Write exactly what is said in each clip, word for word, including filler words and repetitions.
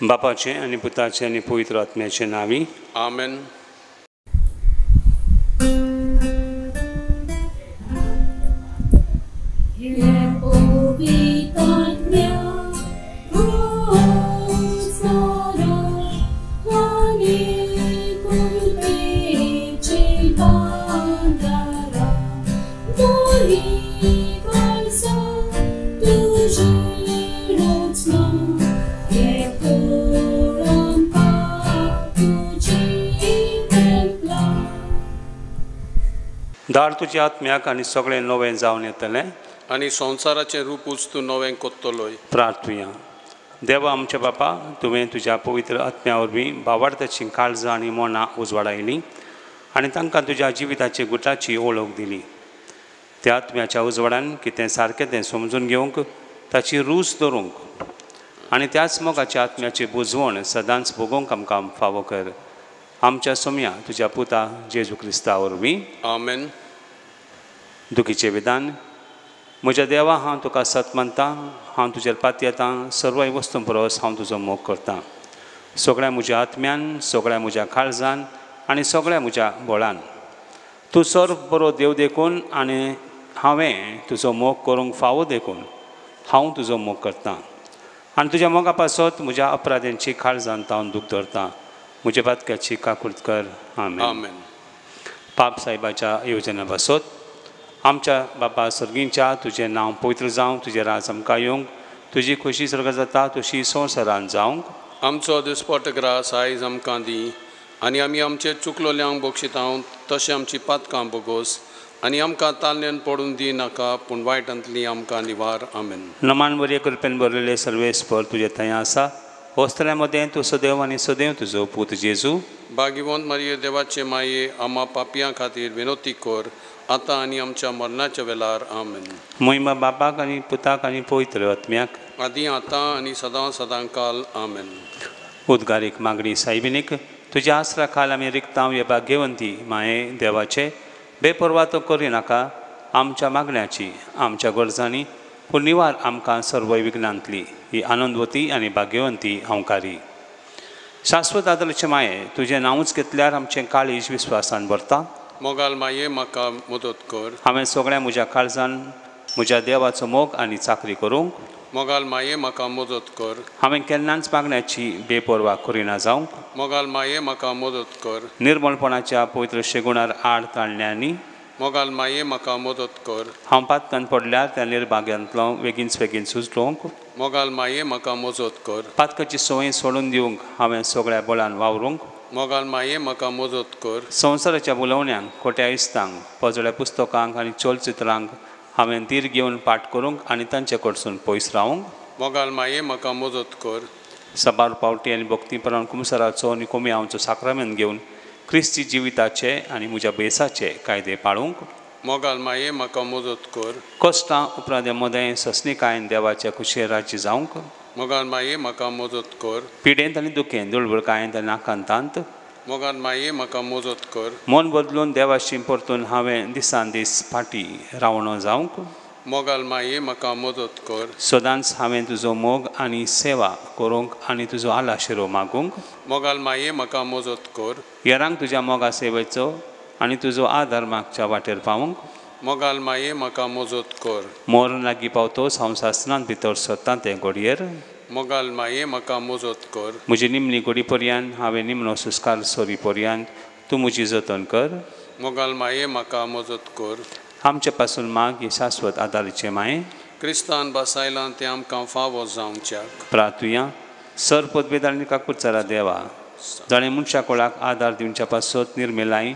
बापाचें आनी पुताचें आनी पवित्र आत्म्याचें नांवी आमेन. दार तुज्या आत्म्याक आनी सगळें नवें जावन येतलें आनी संवसाराचें रूपूच तूं नवें कोत्तलोय. प्रार्थुया. देवा आमच्या बापा, तुवें तुज्या पवित्र आत्म्या वरवीं भावार्थाचीं काळजां आनी मनां उजवाडायलीं आनी तांकां तुज्या जिविताची गुटाची ओळख दिली. त्या आत्म्याच्या उजवाडान कितें सारकें तें समजून घेवंक, ताची रूच दवरूंक आनी त्याच मोगाच्या आत्म्याची बुजवण सदांच भोगोवंक आमकां फावो कर. आमच्या सोम्या तुज्या पुता जेजू क्रिस्ता वरवीं आमेन. दुखीचें विधान. म्हज्या देवा, हांव तुका सत मानतां, हांव तुजेर पातयेतां, सर्वय वस्तूं परस हांव तुजो मोग करतां. सगळ्या म्हज्या आत्म्यान, सगळ्या म्हज्या काळजान आनी सगळ्या म्हज्या बळान. तूं सर्व बरो देव देखून आनी हांवें तुजो मोग करूंक फावो देखून हांव तुजो मोग करतां आनी तुज्या मोगा पासत म्हज्या अपराध्यांची काळजान हांव दूख धरतां. म्हज्या पातक्याची काकूर्त कर. आमेन. आमेन. पाप साहेबाच्या येवजना पासत आमच्या बापा सर्गींच्या, तुजें नांव पवित्र जावं, तुजें राज आमकां येवंक, तुजी खोशी सर्ग जाता तशी संवसारान जावंक. आमचो दिसपट ग्रास आयज आमकां दी आनी आमी आमचे चुकलोल्यांक बक्षितांव तशें आमची पातकां बोगोस आनी आमकां ताल्ल्यान पडून दी नाका पूण वायटांतली आमकां निवार. आमेन. नमान बरे कृपेन बरलेले सर्वेस्पर तुजें थंय आसा. वस्त्रां मदें तूं सदैव आनी सदैव तुजो पूत जेजू. भाग्यवंत मारिये देवाचे माये, आमा पापयां खातीर विनोती कर आतां आनी आमच्या मरणाच्या वेळार. आमेन. मोहिमा बापाक आनी पुताक आनी पवित्र आत्म्याक, आदी आतां आनी सदां सदां काल. आमेन. उद्गारीक मागणी. सायबिनीक तुज्या आसरा खाल आमी रिगतांव हे भाग्यवंती माये देवाचे बेपर्वा तो करिनाका आमच्या मागण्याची आमच्या गरजांनी, पूण निवार आमकां सर्वय विघ्नांतली ही आनंदवती आनी भाग्यवंती अंवकारी. शाश्वत आदलाचे माये, तुजें नांवूच घेतल्यार आमचें काळीज विस्वासान भरता. मोगाल माये म्हाका मदत कर. हांवें सगळ्या म्हज्या काळजान म्हज्या देवाचो मोग आनी चाकरी करूंक. मोगाल माये म्हाका मदत कर. हांवें केन्नाच मागण्याची बेपर्वा करिना जावंक. मोगाल माये म्हाका मदत कर. निर्मलपणाच्या पवित्र शेगुणार आड ताणल्यांनी. मोगाल माये म्हाका मदत कर. हांव पातकान पडल्यार त्या निर्भाग्यांतलो वेगींच बेगीन सुचलोवंक. मोगाल माये म्हाका मजत कर. पातकाची संवय सोडून दिवंक हांवें सगळ्या बळान वावरूंक. मोगाल माये म्हाका मजत कर. संवसाराच्या उलोवण्यांक, खोट्या इस्तांक, पजळ्या पुस्तकांक आनी चलचित्रांक हांवें धीर घेवन पाठ करूंक आनी तांचे कडसून पयस रावूंक. मोगाल माये म्हाका मजत कर. साबार पावटी आनी भक्तीपणान कुमसराचो आनी कोमियांवचो साक्रामेंत घेवन क्रिस्ती जिविताचे आनी म्हज्या बेसाचे कायदे पाळूंक. मोगाल माये म्हाका मजत कर. कश्टां उपरांत मदें ससनिकायेन देवाच्या खुशे राज्य जावंक. मोगाल माये म्हाका मजत कर. पिडेंत आनी दुखेंत, दुळबुळकायेंत आनी आकांतांत मोगाल माये म्हाका मजत कर. मन बदलून देवाशी परतून हांवें दिसान दीस फाटी रावणो जावंक. मोगाल माये म्हाका मजत कर. सदांच हांवें तुजो मोग आनी सेवा करूंक आनी तुजो आलाशिरो मागूंक. मोगाल माये म्हाका मजत कर. हेरांक तुज्या मोगा सेवेचो आनी तुजो आदार मागच्या वाटेर पावूंक. मोगाल माये म्हाका मजत कर. मरण लागीं पावतोच हांव सासणांत भितर सरतां तें घडयेर. मोगाल माये म्हाका मजत कर. म्हजी निमणी घडी पर्यंत हांवें निमणो सुस्कार सरी पर्यंत तूं म्हजी जतन कर. मोगाल माये म्हाका मजत कर. आमचे पासून माग ही शाश्वत आदारीचे माये. क्रिस्तान बसायलां तें आमकां फावो जावच्याक. प्रार्थुया. सर पदवेद आनी काकुचारा देवा, जाणें मनशा कोळाक आदार दिवच्या पासत निर्मेलाय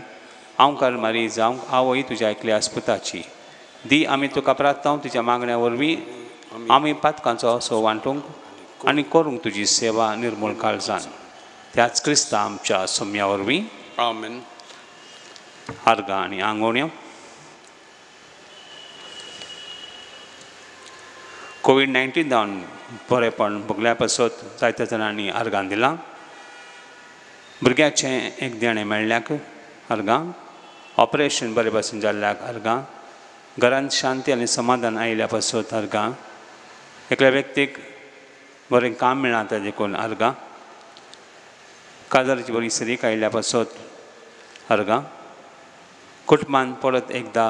आंवकार मारी जावंक आवय तुज्या एकल्या आस्पुताची दी. आमी तुका प्रार्थना तुज्या मागण्या वरवीं आमी पातकांचो असो वांटूंक आनी करूंक तुजी सेवा निर्मूल काळजान त्याच क्रिस्ता आमच्या सोम्या वरवीं. आमेन. आर्गां आनी आंगोण्यो. कोवीड नायन्टीन जावन बरेपण भोगल्या पासत जायत्या जाणांनी आर्गां दिलां. भुरग्याचें एक देणें मेळ्ळ्याक आर्गां, ऑपरेशन बरे भाशेन जाल्ल्याक आर्गां, घरांत शांती आनी समाधान आयिल्ल्या पासत आर्गां, एकल्या व्यक्तीक बरें काम मेळना तें देखून आर्गां, काजाराची बरी सरीक आयिल्ल्या पासत अर्गां. कुटुंबान परत एकदां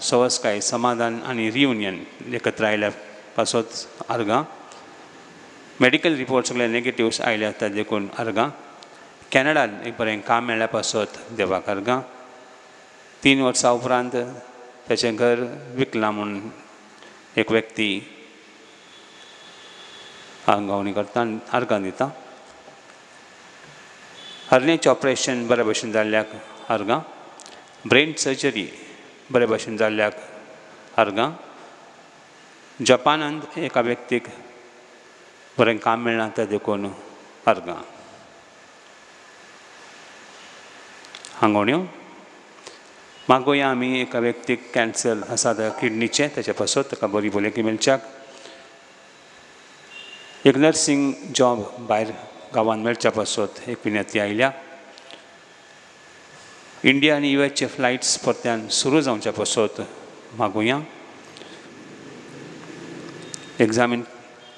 सवसकाय समाधान आनी रियुनियन एकत्र आयिल्ल्या पासत अर्गां. मेडिकल रिपोर्ट सगळे नेगेटिव्स आयले आसता देखून अर्गां. कॅनडान एक बरें काम मेळ्ळ्या पासत देवाक अर्गां. तीन वर्सां उपरांत ताचें घर विकलां म्हूण एक व्यक्ती आंगावणी करता आनी अर्गां दिता. हर्नेचें ऑपरेशन बरे भशेन जाल्ल्याक अर्गां. ब्रेन सर्जरी बरे भशेन जाल्ल्याक अर्गां. जपानांत एका व्यक्तीक बरें काम मेळना तें देखून अर्गां. हांगोण्यो मागोया आमी एका व्यक्तीक कॅन्सर आसा त्या किडनीचें ताचे पासत ताका बरी भलायकी मेळच्याक. एक नर्सींग जॉब भायर गांवांत मेळच्या पासत एक विनंती आयल्या. इंडिया आनी you एसचे फ्लायट्स परत्यान सुरू जावच्या पासत मागुया. एग्जामीन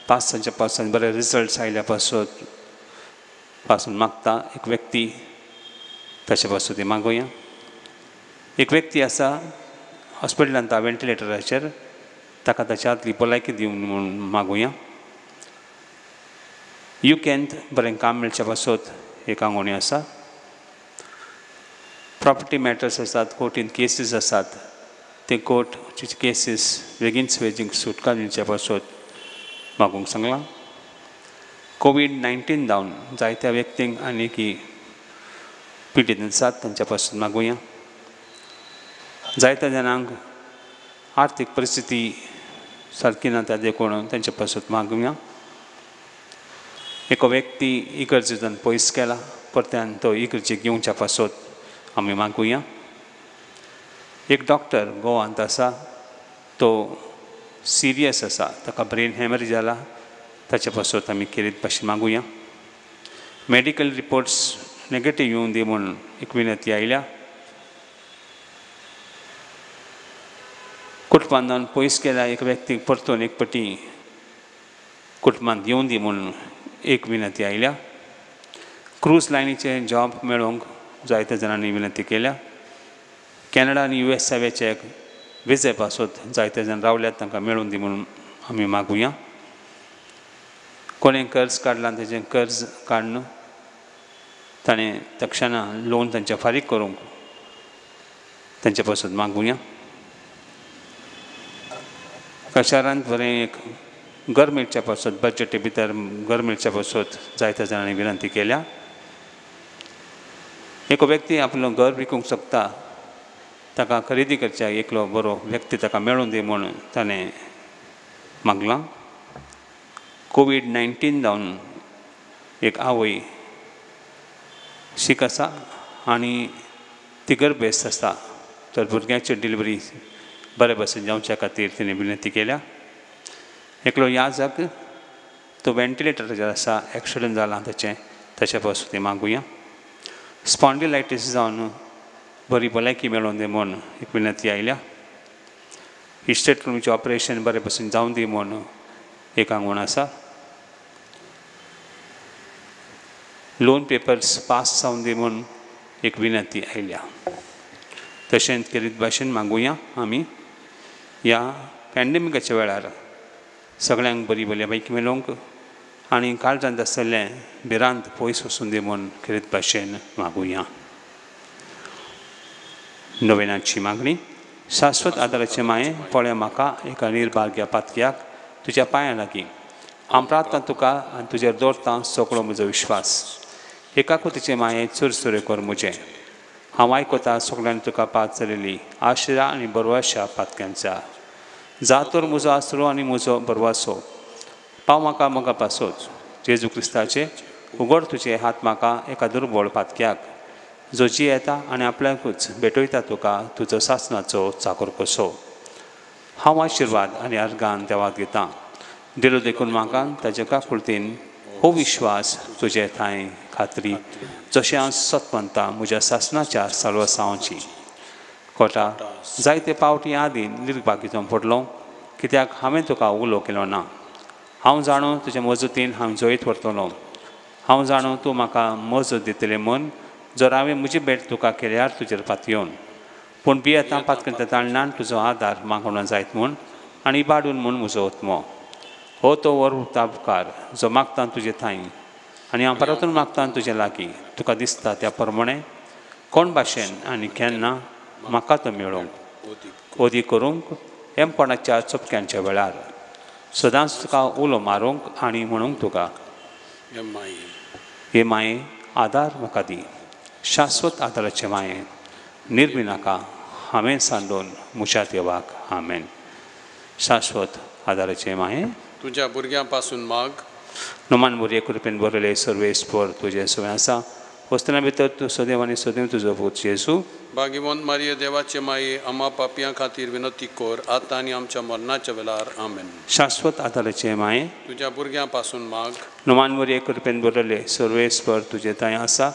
पास जावच्या पासून बरे रिजल्ट्स आयल्या पासत पासून मागता एक व्यक्ती ताचे पासत ती मागुया. एक व्यक्ती आसा हॉस्पिटलांत वेंटिलेटराचेर ताका ताच्या आदली भलायकी दिवन म्हूण मागुया. युकेंत बरें काम मेळच्या पासत एक आंगोणी आसा. प्रॉपर्टी मॅटर्स आसात, कोर्टीन केसीस आसात, ते कोर्टची केसीस बेगीनच बेगीन सुटका दिवच्या पासत मागूंक सांगलां. कोवीड नायन्टीन जावन जायत्या व्यक्तींक आनी की पिडीत आसात तांच्या पासून मागुया. जायत्या जाणांक आर्थीक परिस्थिती सारकी ना त्या देखून तांच्या पासून मागुया. एक व्यक्ती इगर्जेंतल्यान पयस केला परत्यान तो इगर्जेक येवच्या पासत आमी मागुया. एक डॉक्टर गोवांत आसा तो सिरियस आसा, ताका ब्रेन हॅमरेज जाला, ताचे पासत आमी खेरीत भाशेन मागुया. मेडिकल रिपोर्ट्स नेगेटीव येवन दी म्हूण एक विनंती आयल्या. कुटुंबान पयस केल्या एक व्यक्तीक परतून एक पटी कुटुंबांत येवन दी म्हूण एक विनंती आयल्या. क्रूज लायनीचे जॉब मेळोवंक जायत्या जाणांनी विनंती केल्या. कॅनडा आनी यू एस एचे विजे पासत जायते जाण रावल्यात तांकां मेळून दी म्हणून आमी मागुया. कोणें कर्ज काडलां तेजें कर्ज काडून ताणें तक्षणा लोन तांचे फारीक करूंक तांचे पासत मागुया. कशारांत बरें एक घर मेळच्या पासत बजटी भितर घर मेळच्या पासत जायत्या जाणांनी विनंती केल्या. एक व्यक्ती आपलो घर विकूंक शकता ताका खरेदी करच्या एकलो बरो व्यक्ती ताका मेळून दी म्हूण ताणें मागलां. कोवीड नायन्टीन जावन एक आवय शीक आसा आनी ती गर्भेस्त आसा तर भुरग्याची डिलिव्हरी बरे भशेन जावच्या खातीर तिणें विनंती केल्या. एकलो याजक तो वेंटिलेटराचेर आसा, एक्सिडंट जाला ताचें, ताचे पासून ती मागुया. स्पॉन्डिलायटीस जावन बरी भलायकी मेळोवन दी म्हूण एक विनंती आयल्या. हिस्टेक्टमीचें ऑपरेशन बरे भशेन जावन दी म्हूण एक आंगवण आसा. लोन पेपर्स पास जावन दी म्हूण एक विनंती आयल्या. तशेंच खेरीत भाशेन मागुया आमी ह्या पॅन्डेमिकाच्या वेळार सगळ्यांक बरी भलायकी मेळोवंक आनी काळजांत आसलें भिरांत पयस वचून दी म्हूण खेरीत भाशेन मागुया. नोवेनाची मागणी. शाश्वत आदाराचे माये पळय म्हाका एका निर्भाग्या पातक्याक तुज्या पांयां लागीं हांव प्रार्थना तुका आनी तुजेर दवरतां सगळो म्हजो विश्वास. एकाकुतीचे माये चुरचुरे कर म्हजें. हांव आयकता सगळ्यांनी तुका पात चलयली आशिरा आनी बरवाशा पातक्यांच्या. जा तर म्हजो आसरो आनी म्हजो बरवासो पाव म्हाका म्हका पासोच. जेजू क्रिस्ताचे उगड तुजे हात म्हाका एका दुर्बळ पातक्याक जो जी येता आनी आपल्याकूच भेटयता तुका तुजो सासणाचो चाकर कसो. हांव आशिर्वाद आनी अर्गान देवाक घेतां दिलो देखून म्हाका ताच्या काकुळतीन हो विश्वास तुजे ठांय खात्री जशें हांव सत मानता म्हज्या सासणाच्या साल्वासांवाची. कोटा जायते पावटी आदीं निर्भागी जावन पडलो कित्याक हांवें तुका उलो केलो ना. हांव जाणो तुजे मजतीन हांव जैत व्हरतलो. हांव जाणो तूं म्हाका मजत दितलें म्हूण जर हांवें म्हजी भेट तुका केल्यार तुजेर पातयेवन पूण भियेता पातकन ताळणान तुजो आदार मागणो जायत म्हूण आनी इबाडून म्हूण म्हजो आत्मो हो तो वर उपकार जो मागता तुजे थांय आनी हांव परतून मागता तुजे लागीं तुका दिसता त्या प्रमाणे कोण भाशेन आनी केन्ना म्हाका तो मेळोवंक ओदी करूंक हेमपणाच्या चपक्यांच्या वेळार सदांच तुका उलो मारूंक आनी म्हणूंक तुका हे माये आदार म्हाका दी शाश्वत आदाराचे माये निर्मिनाका हांवें सांडून म्हज्या देवाक आमेन. शाश्वत आदाराचे माये तुज्या भुरग्यां पासून माग. नोमान भुरगे कृपेन बरयले सर्वेस्पर तुजें सवय आसा वस्तना भितर तूं सदैव आनी सदैव तुजो पूत जेजू. भाग्यवंत मारिये देवाचे माये आमा पापयां खातीर विनंती कर आतां आनी आमच्या मरणाच्या वेळार आमेन. शाश्वत आदाराचे माये तुज्या भुरग्यां पासून माग. नोमान भुरगे कृपेन बरयले सर्वेस्पर तुजें थंय आसा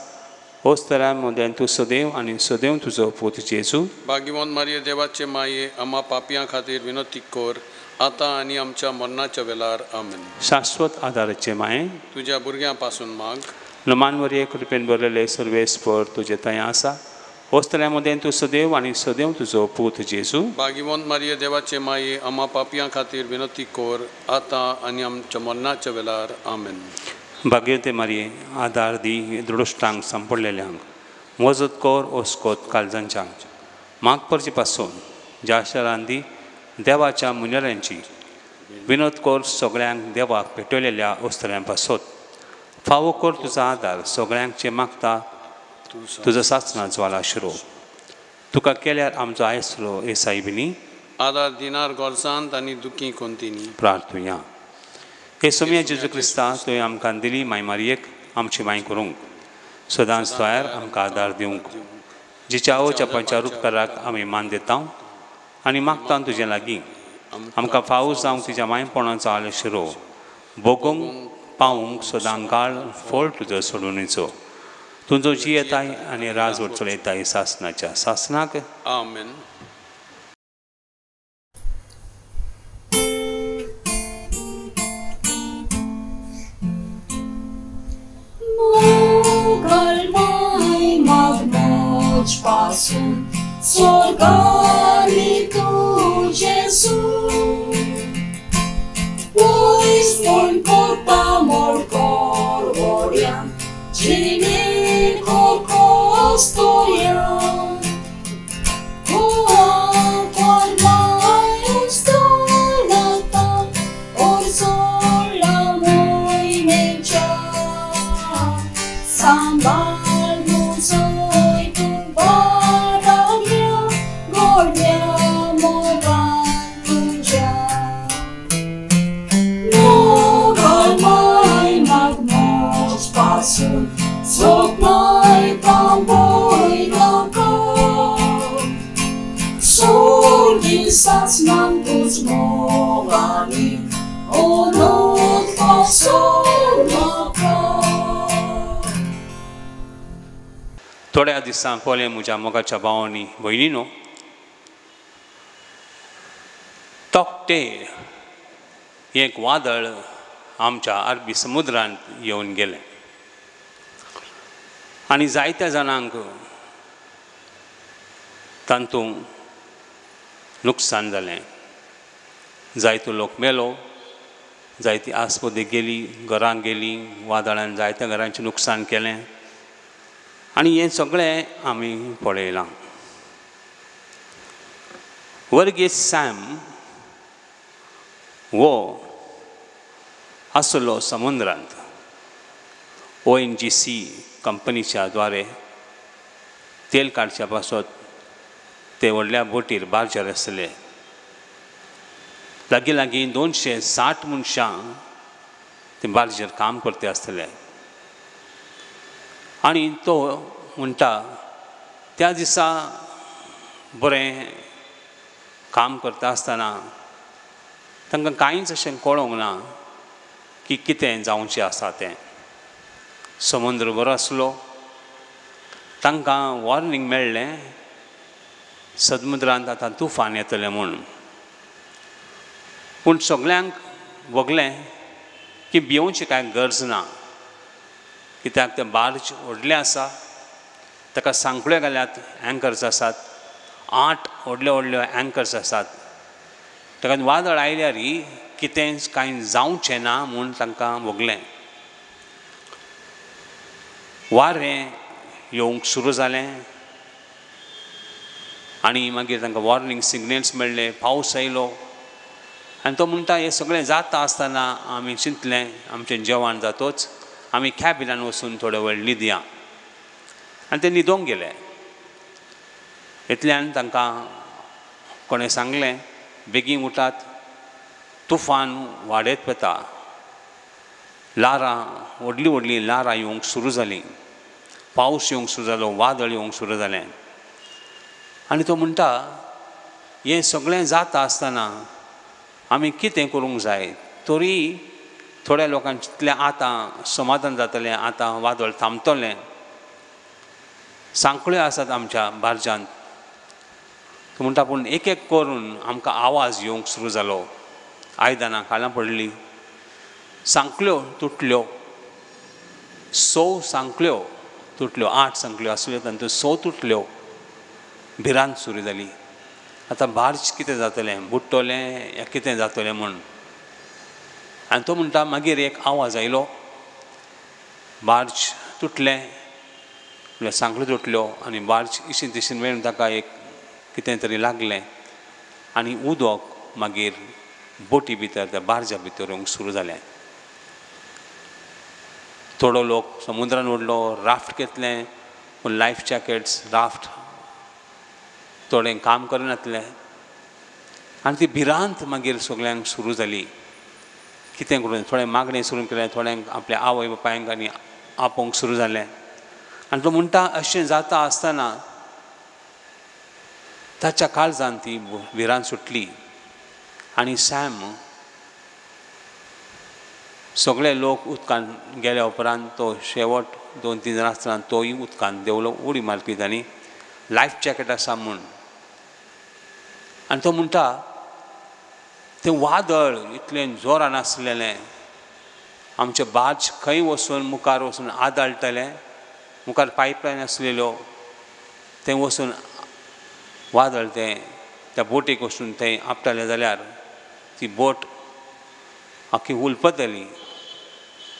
वस्तरा मदें तूं सदैव आनी सदैव तुजो पूत जेजू. भाग्यवंत मारिये देवाचे माये आमा पापयां खातीर विनंती कर आतां आनी आमच्या मरणाच्या वेळार आमेन. शाश्वत आदाराचे माये तुज्या भुरग्यां पासून माग. नोमान मरिये कृपेन बरयले सर्वेस्पर तुजें थंय आसा वस्तऱ्या मदें तूं सदैव आनी सदैव तुजो पूत जेजू. भाग्यवंत मारिये देवाचे माये आमा पापयां खातीर विनंती कर आतां आनी आमच्या मरणाच्या वेळार आमेन. भाग्यवंत मारिये आदार दी दृढश्टांक सांपडलेल्यांक मजत कर ओस्कोत काळजांच्यांक माग परचे पासून ज्या शरान दी देवाच्या मुनेरांची विनोद कर सगळ्यांक देवाक पेटवलेल्या ओस्तऱ्यां पासत फावो कर तुजो आदार सगळ्यांक जे मागता तुजो सासणा ज्वाला शिरो तुका केल्यार आमचो आयसरो ए सायबिनी आदार दिनार गोरसांत आनी दुखी कोंतिनी. प्रार्थुया. हे सोम्या जेजू क्रिस्ता तुवें आमकां दिली माय मारयेक आमची माय करूंक सदांच तयार आमकां आदार दिवंक जिच्या आवच्या पंचार उपकाराक आमी मान दिता आनी मागता तुजे लागीं आमकां फावो जावंक तुज्या मायपणाचो आलो शिरो भोगूंक पावूंक सदां काळ फळ तुजो सोडूनीचो तुजो जी येताय आनी राजवट चलयताय सासनाच्या सासनाक आमेन. पासून स्वर्गारी तूं जेजू पयस पूण करता मोडकोर व्हड्यान जिणे कोस्तोयान थोड्या दिसां पयलीं म्हज्या मोगाच्या भावांनी भयणीनो तोक्ते एक वादळ आमच्या अरबी समुद्रांत येवन गेलें आनी जायत्या जाणांक तातूंत नुकसान जालें. जायतो लोक मेलो, जायती आस्पदी गेली, घरां गेली, वादळान जायत्या घरांचें नुकसान केलें आनी हें सगळें आमी पळयलां. वर्गीस सॅम हो आसलो समुद्रांत ओ एन जी सी कंपनीच्या द्वारे तेल काडच्या पासत ते व्हडल्या बोटीर बार्जर आसले. लागीं लागीं दोनशे साठ मनशां ते बार्जेर काम करते आसतले आनी तो म्हणटा त्या दिसा बरें काम करता आसतना तांकां कांयच अशें कळोंक ना की कितें जावचें आसा तें. समुद्र बरो आसलो, तांकां वॉर्निंग मेळ्ळें समुद्रांत आतां तुफान येतलें म्हूण. पूण सगल्यांक भोगलें की भियोवची कांय गरज ना, कित्याक तें बार्ज व्हडलें आसा, ताका सांकळ्यो घाल्यात, एंकर्स आसात, आठ व्हडल्यो व्हडल्यो एंकर्स आसात. ताका वादळ आयल्यार कितेंच कांय जावचें ना म्हूण तांकां भोगलें. वारें येवंक सुरू जालें आनी मागीर तांकां वॉर्निंग सिग्नल्स मेळ्ळे, पावस आयलो. आनी तो म्हणटा हें सगळें जाता आसतना आमी चिंतलें आमचें जेवण जातोच आमी कॅबिनान वचून थोडो वेळ न्हिदया. आनी ते न्हिदोंक गेले. इतल्यान तांकां कोणें सांगलें बेगीन उठात, तुफान वाडयत वता, ल्हारां व्हडलीं व्हडलीं ल्हारां येवंक सुरू जालीं, पावस येवंक सुरू जालो, वादळ येवंक सुरू जालें. आनी तो म्हणटा हें सगळें जाता आसतना आमी कितें करूंक जाय, तरी थोड्या लोकांक चिंतलें आतां समाधान जातलें, आतां वादळ थांबतलें. सांकळ्यो आसात आमच्या बार्जांत. तो म्हणटा पूण एक एक करून आमकां आवाज येवंक सुरू जालो, आयदनां खालां पडलीं, सांकळ्यो तुटल्यो, स सांकळ्यो तुटल्यो, आठ सांकळ्यो आसल्यो तातूंत स तुटल्यो. भिरांत सुरू जाली, आतां बार्ज कितें जातलें, बुडटलें या कितें जातलें म्हूण. आनी तो म्हणटा मागीर एक आवाज आयलो, बार्ज तुटलें, म्हणल्यार सांकळ्यो तुटल्यो आनी बार्ज इशीन तिशीन मेळून ताका एक कितें तरी लागलें आनी उदक मागीर बोटी भितर त्या बार्जा भितर येवंक सुरू जालें. थोडो लोक समुद्रान उडलो, राफ्ट घेतलें, पूण लायफ जॅकेट्स राफ्ट थोडें काम करनासलें. आनी ती भिरांत मागीर सगल्यांक सुरू जाली, कितें करून थोडें मागणें सुरू केलें, थोड्यांक आपल्या आवय बापायंक आनी आपोवंक सुरू जालें. आनी तो म्हणटा अशें जाता आसतना ताच्या काळजान ती भिरांत सुटली आनी सॅम सगळे लोक उदकान गेल्या उपरांत तो शेवट दोन तीन जाणां आसतना तोय उदकान देंवलो, उडी मारली तांणी, लायफ जॅकेट आसा म्हूण. आनी तो म्हणटा तें वादळ इतलें जोरान आसलेलें, आमचें बार्ज खंय वचून मुखार वचून आदाळटलें, मुखार पायपलायन आसलेल्यो, तें वचून वादळ तें त्या बोटीक वचून थंय आपटालें जाल्यार ती बोट आख्खी उलपतली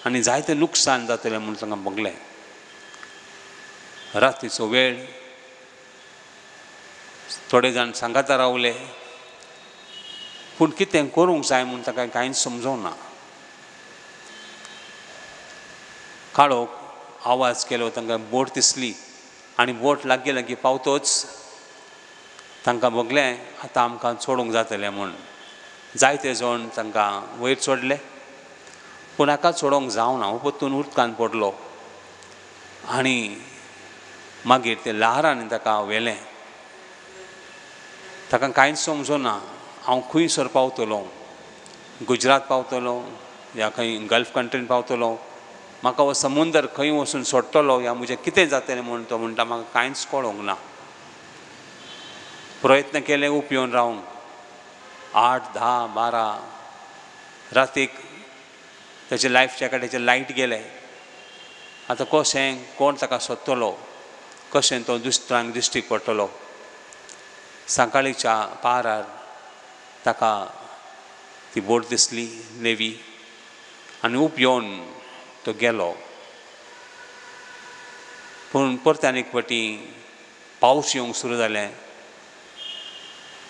आनी जायतें लुकसाण जातलें म्हूण तांकां भोगलें. रातीचो वेळ, थोडे जाण सांगाता रावले, पूण कितें करूंक जाय म्हूण ताका कांयच समजोंक ना. काळोख आवाज केलो, तांकां बोट दिसली आनी बोट लागीं लागीं पावतोच तांकां भोगलें आतां आमकां सोडूंक जातलें म्हूण. जायते जाण तांकां वयर चडले, पूण हाका चडोवंक जावना, हो परतून उदकान पडलो आनी मागीर ते ल्हारांनी ताका व्हेलें. ताका कांयच समजना, हांव खंयसर पावतलो, गुजरात पावतलो या खंय गल्फ कंट्रीन पावतलो, म्हाका हो समुंदर खंय वचून सोडटलो या म्हजें कितें जातलें म्हूण तो म्हणटा म्हाका कांयच कळोंक ना. प्रयत्न केले उपयोन रावंक, आठ धा बारा रातीक ताचे लायफ जॅकेटाचे लायट गेले. आतां कशें कोण ताका सोदतलो, कशें तो दुसऱ्यांक दिश्टी पडटलो. सकाळीच्या पारार ताका ती बोट दिसली नेवी आनी उपयोन तो गेलो. पूण परत्यान एक फावटी पावस येवंक सुरू जालें.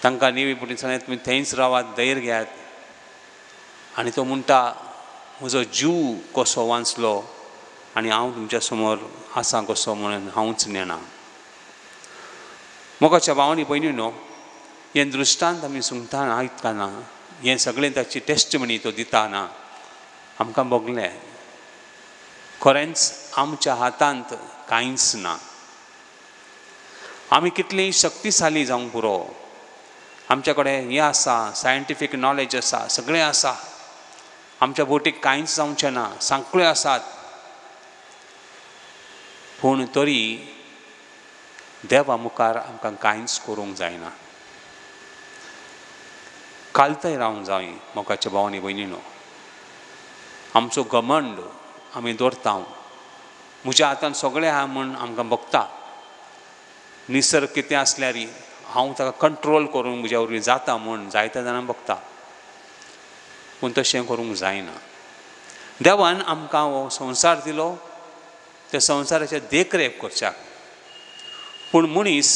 तांकां नेवी बोटीन सांगलें तुमी थंयच रावात, धैर्य घेयात. आनी तो म्हणटा म्हजो जीव कसो वांचलो आनी हांव तुमच्या समोर आसा कसो म्हणून हांवूच नेणा. मोगाच्या भावांनी भयणीनो, हें दृश्टांत आमी सुंगताना आयकतना, हें सगळें ताची टेस्टमनी तो दिताना आमकां भोगलें खरेंच आमच्या हातांत कांयच ना. आमी कितलीं शक्तिशाली जावंक पुरो, आमच्या कडेन हें आसा, सायंटिफीक नॉलेज आसा, सगळें आसा, आमच्या बोटीक कांयच जावचें ना, सांकळ्यो आसात, पूण तरी देवा मुखार आमकां कांयच करूंक जायना. कालतय रावंक जाय मोगाच्या भावांनी भयणीनो. आमचो घमंड आमी दवरता, म्हज्या हातान सगळें आहा म्हूण आमकां बघता. निसर्ग कितें आसल्यार हांव ताका कंट्रोल करूंक म्हज्या वरवीं जाता म्हूण जायत्या जाणांक बघता, पूण तशें करूंक जायना. देवान आमकां हो संवसार दिलो त्या संवसाराचेर देखरेख करच्याक, पूण मनीस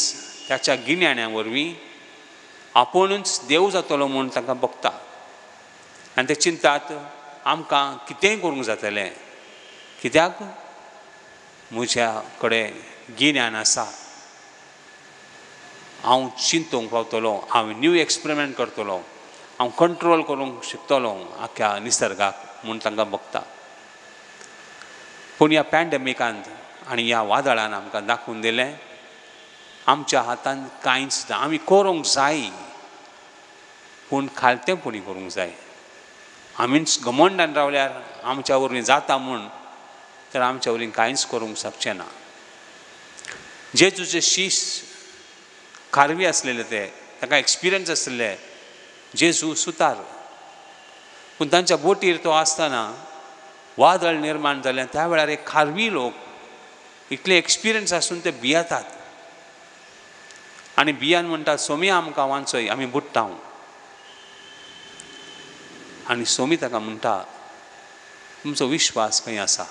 ताच्या गिन्याना वरवीं आपुणूच देव जातलो म्हूण तांकां बघता आनी ते चिंतात आमकां कितेंय करूंक जातलें, कित्याक म्हज्या कडेन गिन्यान आसा, हांव चिंतूंक पावतलो, हांव न्यू एक्सपेरिमेंट करतलो, हांव कंट्रोल करूंक शिकतलो आख्या निसर्गाक म्हूण तांकां बघता. पूण ह्या पॅन्डेमिकांत आनी ह्या वादळान आमकां दाखोवन दिलें आमच्या हातान कांयच ना. आमी करूंक जाय पूण खालतेपणी करूंक जाय. आमीच घमंडान रावल्यार आमच्या वरवीं जाता म्हूण तर आमच्या वरवीं कांयच करूंक शकचें ना. जेजूचे शीश खारवी आसलेले, ते ताका एक्सपिरियन्स आसले, जेजू सुतार, पूण तांच्या बोटीर तो आसतना वादळ निर्माण जालें. त्या वेळार एक खारवी लोक इतले एक्सपिरियन्स आसून ते भियेतात आनी भियान म्हणटात सोमी आमकां वांचय, आमी बुडटा. आनी सोमी ताका म्हणटा तुमचो विश्वास खंय आसा?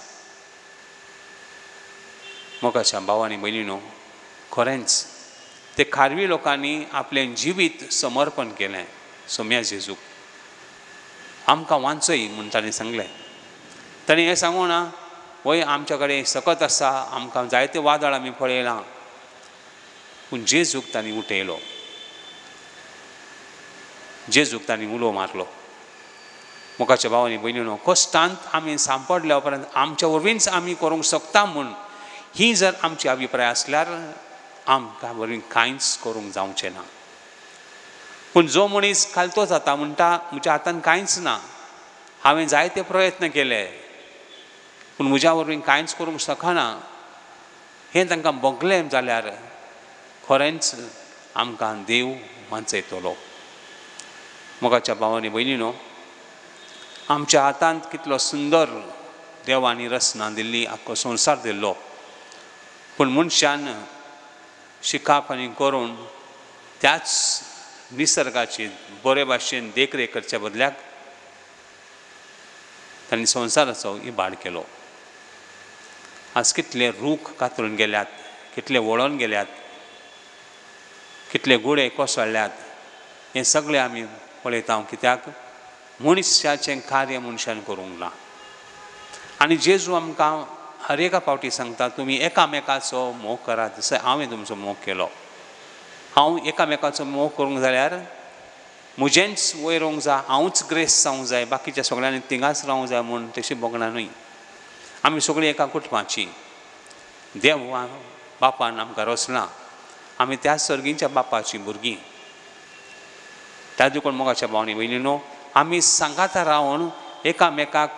मोगाच्या भाव आनी भयणीनो, खरेंच ते खारवी लोकांनी आपलें जिवीत समर्पण केलें सोम्या जेजूक, आमकां वांचय म्हूण ताणें सांगलें. ताणें हें सांगू ना वय आमच्या कडेन सकत आसा, आमकां जायते वादळ आमी पळयलां, पूण जेजूक तांणी उठयलो, जेजूक तांणी उलो मारलो. मोगाच्या भाव आनी भयणीनो, कश्टांत आमी सांपडल्या उपरांत आमच्या वरवींच आमी करूंक शकता म्हूण ही जर आमची अभिप्राय आसल्यार आमकां वरवीं कांयच करूंक जावचें ना. पूण जो मनीस खालतो जाता म्हणटा म्हज्या हातान कांयच ना, हांवें जायते प्रयत्न केले पूण म्हज्या वरवीं कांयच करूंक शकना, हें तांकां भोगलें जाल्यार खरेंच आमकां देव वांचयतलो. मोगाच्या भाव आनी भयणीनो, आमच्या हातांत कितलो सुंदर देवांनी रचना दिल्ली, आख्खो संवसार दिल्लो, पूण मनशान शिकाप आनी करून त्याच निसर्गाची बरे भाशेन देखरेख करच्या बदल्याक तांणी संवसाराचो इबाड केलो. आज कितले रूख कातरून गेल्यात, कितले वळोन गेल्यात, कितले गुडे कोसळ्ळ्यात, हें सगळें आमी पळयता. कित्याक मनशाचें कार्य मनशान करूंक ना. आनी जेजू आमकां हर एका फावटी सांगता तुमी एकामेकाचो मोग करात जसो हांवें तुमचो मोग केलो. हांव एकामेकाचो मोग करूंक जाल्यार म्हजेंच वयर वोंक जाय, हांवूच ग्रेस जावंक जाय, बाकीच्या सगळ्यांनी तिंगाच रावंक जाय म्हूण तशी भोगना न्हय. आमी सगळीं एका कुटुंबाची, देव बापान आमकां रचला, आमी त्या सर्गींच्या बापाचीं भुरगीं. त्या देखून मोगाच्या भावनी भयणीनो, आमी सांगाता रावन एकामेकाक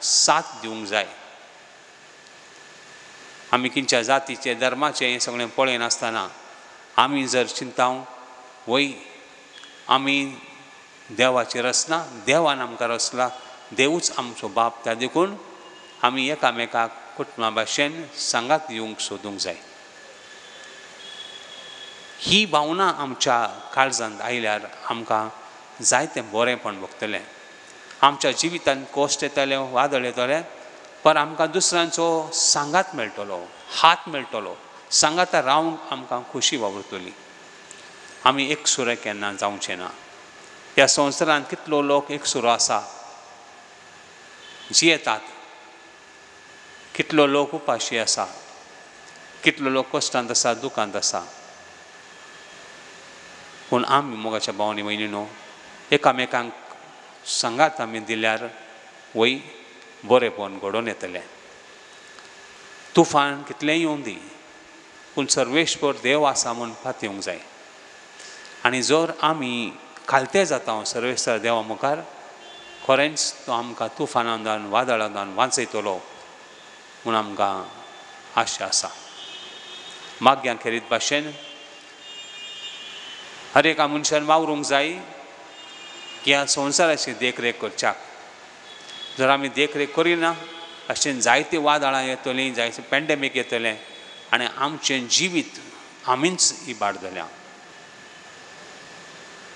साथ दिवंक जाय. आमी खंयच्या जातीचे धर्माचे हें सगळें पळयनासतना आमी जर चिंता वय आमी देवाची रचना, देवान आमकां रचला, देवूच आमचो बाप, त्या देखून आमी एकामेकाक कुटुंबा भाशेन सांगात दिवंक सोदूंक जाय. ही भावना आमच्या काळजांत आयल्यार आमकां जायतें बरेंपण भोगतलें. आमच्या जिवितांत कश्ट येतले, वादळ येतले, पर आमकां दुसऱ्यांचो सांगात मेळटलो, हात मेळटलो, सांगाता रावंक आमकां खोशी वावुरतली. आमी एकसुरे केन्ना जावचें ना. ह्या संवसारांत कितलो लोक एकसुरो आसा, जियेतात, कितलो लोक उपाशी आसा, कितलो लोक कश्टांत आसा, दुखांत आसा, पूण आमी मोगाच्या भावांनी भयणीनो एकामेकांक सांगात आमी दिल्यार वय बरेंपण घडोवन येतलें. तुफान कितलेंय येवं दी, पूण सर्वेश्वर देव आसा म्हूण पातयेवंक जाय. आनी जर आमी खालते जाता सर्वेश्वर देवा मुखार, खरेंच तो आमकां तुफानांतल्यान वादळांतल्यान वांचयतलो म्हूण आमकां आशा आसा. माग्यां खेरीत भाशेन हर एका मनशान वावरूंक जाय की ह्या संवसाराची देखरेख करच्याक. जर आमी देखरेख करिना अशें जायतीं वादळां येतलीं, जायते पेंडेमीक येतलें आनी आमचें जिवीत आमीच इबाड जाल्या.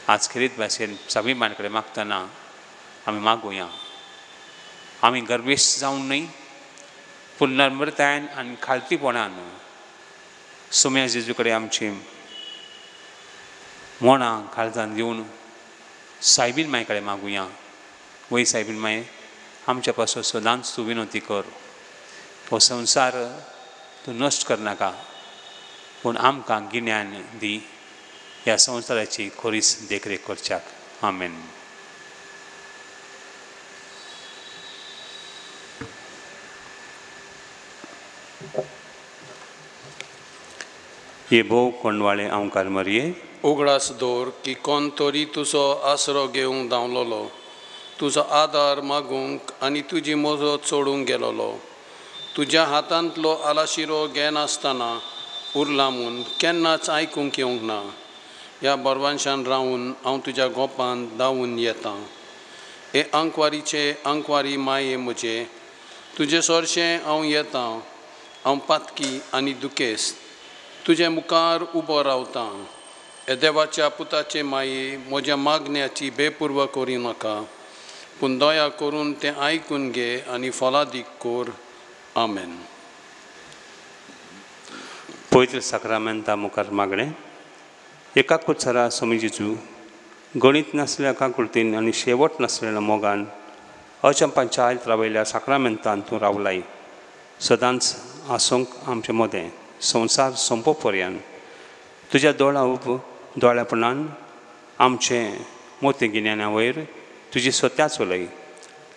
आज खेरीत भाशेन साबी माय कडेन मागतना आमी मागुया, आमी गर्वेश जावन न्हय पूण नम्रतायेन आनी खालतीपणान सोम्या जेजू कडेन आमची मोणां काळजान घेवन सायबीन माय कडेन मागुया. वय सायबीन माय, आमच्या पासून सदांच तूं विनवती कर, हो संवसार तूं नश्ट करनाका पूण आमकां गिन्यान दी ह्या संवसाराची खोरीस देखरेख करच्याक. आमेन. हे भोव कोंडवाळे आंवकार मरये, उगडास दवर की कोण तरी तुजो आसरो घेवंक धांवलोलो, तुजो आदार मागूंक आनी तुजी मजत सोडूंक गेलोलो. तुज्या हातांतलो आलाशिरो घेनासतना उरला म्हूण केन्नाच आयकूंक येवंक ना. ह्या बरवांशान रावून हांव तुज्या गोपान धांवून येता. हे आंकवारीचे आंकवारी माये म्हजे, तुजे सरशें हांव येता. हांव पातकी आनी दुखेस्त तुजे मुखार उबो रावतां. हे देवाच्या पुताचे माये, म्हज्या मागण्याची बेपूर्व करी नाका पूण दया करून तें आयकून घे आनी फलादीक कर. आमेन. पवित्र साक्रामेंता मुखार मागणें. एका कुत्सरा स्वामी जेजू गणीत नासल्या काकुळतीन आनी शेवट नासलेल्या मोगान अचंपांच्या आयत रावयल्या साक्रामेंतान तूं रावलाय, सदांच आसूंक आमचे मदें संवसार सोंपो पर्यंत. तुज्या दोळा उब दोळ्यापणान आमचें मोती गिन्याना वयर तुजी सत्या चलय.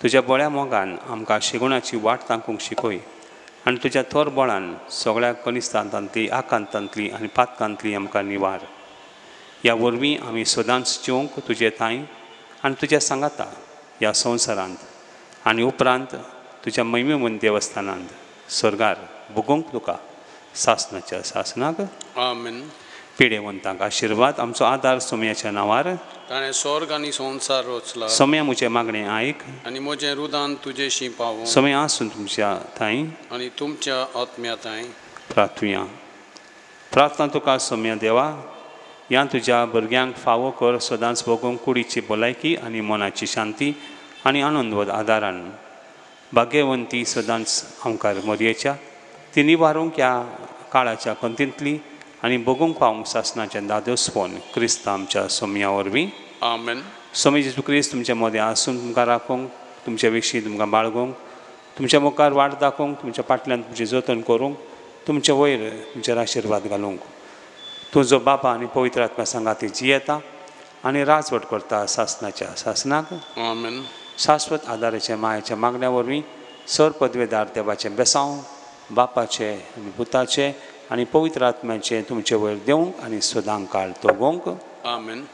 तुज्या बळ्या मोगान आमकां शिगुणाची वाट तांकूंक शिकय आनी तुज्या थोर बळान सगळ्या कनिस्तांतांतली, आकांतांतली आनी पातकांतली आमकां निवार. ह्या वरवीं आमी सदांच जिवंक तुजे थांय आनी तुज्या सांगाता ह्या संवसारांत आनी उपरांत तुज्या महिमेमन देवस्थानांत स्वर्गार भोगोवंक तुका सासनाच्या सासनाक. आमेन. पिडेवंतांक आशिर्वाद. आमचो आदार सोम्याच्या नांवार, ताणें स्वर्ग आनी संवसार रचला. सोम्या म्हजें मागणें आयक आनी म्हजें रुदान तुजेशी पावो. सोम्या आसून तुमच्या थांय आनी तुमच्या आत्म्या थांय. प्रार्थुया. प्रार्थना तुका सोम्या देवा, ह्या तुज्या भुरग्यांक फावो कर सदांच भोगूंक कुडीची भलायकी आनी मनाची शांती आनी आनंद आदारान. भाग्यवंती सदांच आमकार मरयेच्या ती निवारूंक ह्या काळाच्या खंतींतली आनी भोगूंक पावूंक सासनाचें दादोसपण क्रिस्त आमच्या सोम्या वरवीं. आमेन. स्वामी जेजू क्रिस्त तुमच्या मदें आसून तुमकां राखूंक, तुमच्या विशीं तुमकां बाळगूंक, तुमच्या मुखार वाट दाखोवंक, तुमच्या फाटल्यान तुमचें जतन करूंक, तुमचे वयर तुमचेर आशिर्वाद घालूंक. तुजो बापा आनी पवित्र आत्मा सांगाती जियेता आनी राजवट करता सासनाच्या सासनाक. आमेन. शाश्वत आदाराच्या मायेच्या मागण्या वरवीं सर पदवेदार देवाचें बेसांव बापाचें आनी पुताचें आनी पवित्र आत्म्याचें तुमचे वयर देवंक आनी सदां काळ तोगोवंक. आमेन.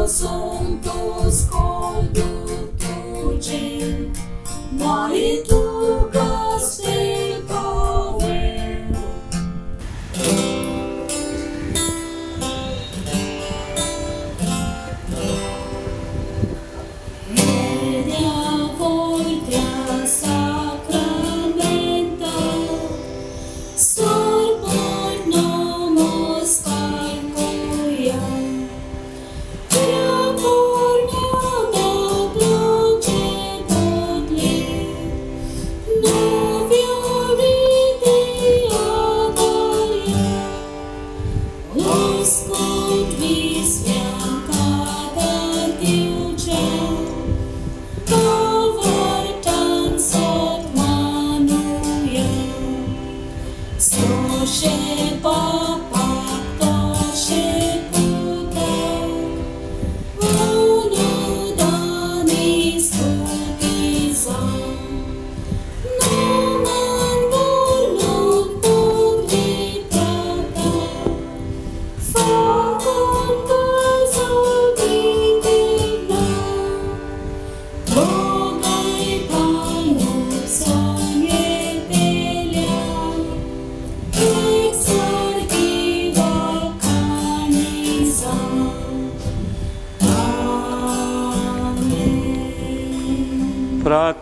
Santos conduce, mari tu castel pave. Media volta sacramenta, sorbor nomos calcoia. Soshe papa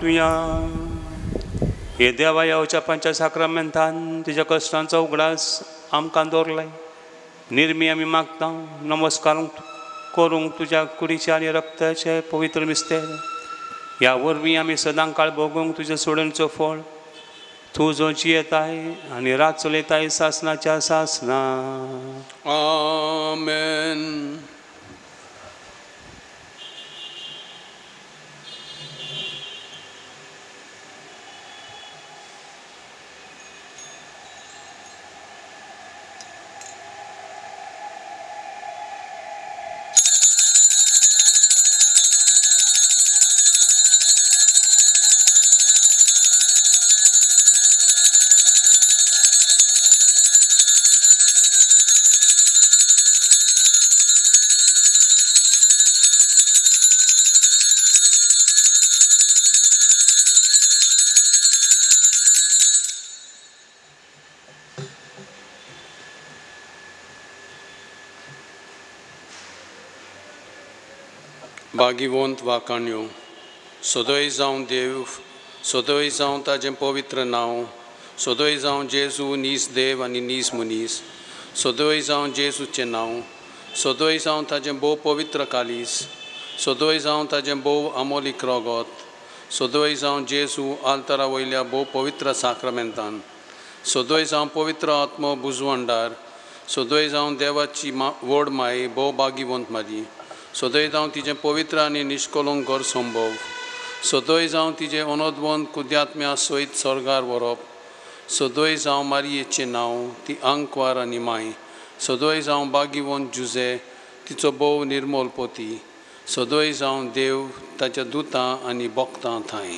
प्रार्थुया. हे देवा येवच्या पंच साक्रामेंतान तुज्या कश्टांचो उगडास आमकां दवरलाय. निर्मी आमी मागता नमस्कार करूंक तुज्या कुडीचे आनी रक्ताचे पवित्र मिस्तेर. ह्या वरवीं आमी सदां काळ भोगूंक तुज्या सोडणचो फळ. तूं जो जियेताय आनी रात चलयताय सासनाच्या सासना. आमेन. भागीवंत वाकाण्यो सदय जावं देव, सदय जावं ताजें पवित्र नांव, सदय जावं जेजू नीस देव आनी नीस मनीस, सदय जावं जेजूचें नांव, सदय जावं ताजें भोव पवित्र कालीस, सदय जावं ताजें भोव आमोलीक रोगोत, सदय जावं जेजू आल्तारा वयल्या भोव पवित्र साक्रामेंतान, सदय जावं पवित्र आत्मो बुजवंडार, सदय जावं देवाची मा व्हड माय भोव भागीवंत मारी, सदय जावं तिजें पवित्र आनी निश्कलंक घर संभव, सदय जावं तिजें अनोदवंत कुद्यात्म्या सयत स्वर्गार व्हरप, सदय जावं मारयेचें नांव ती आंकवार आनी माय, सदय जावं बागीवंत जुजे तिचो भोव निर्मोल पोती, सदय जावं देव ताच्या दुतां आनी भक्तां थांय.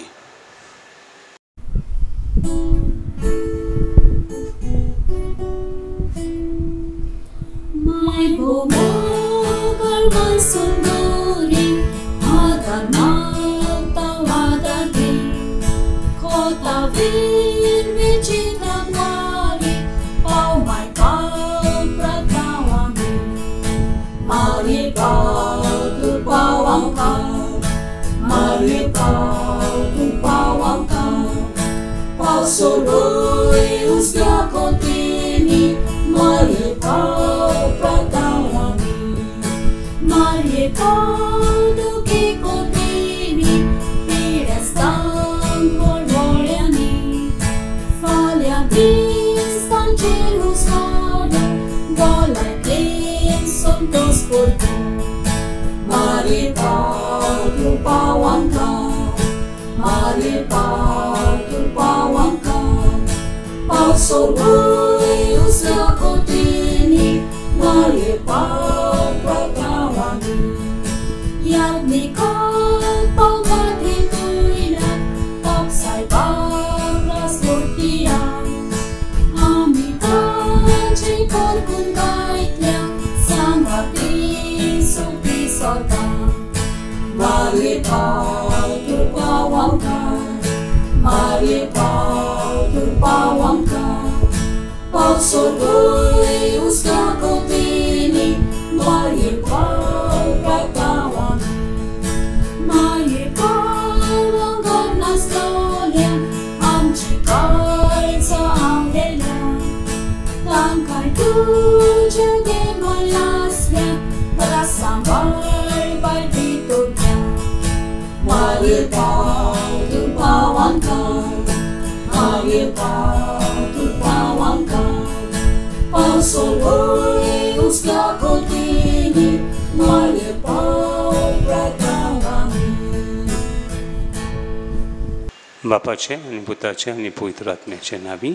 बापाचे आनी पुताचे आनी पवित्र आत्म्याचे नांवी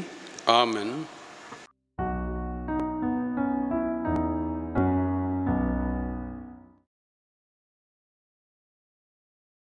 आमेन.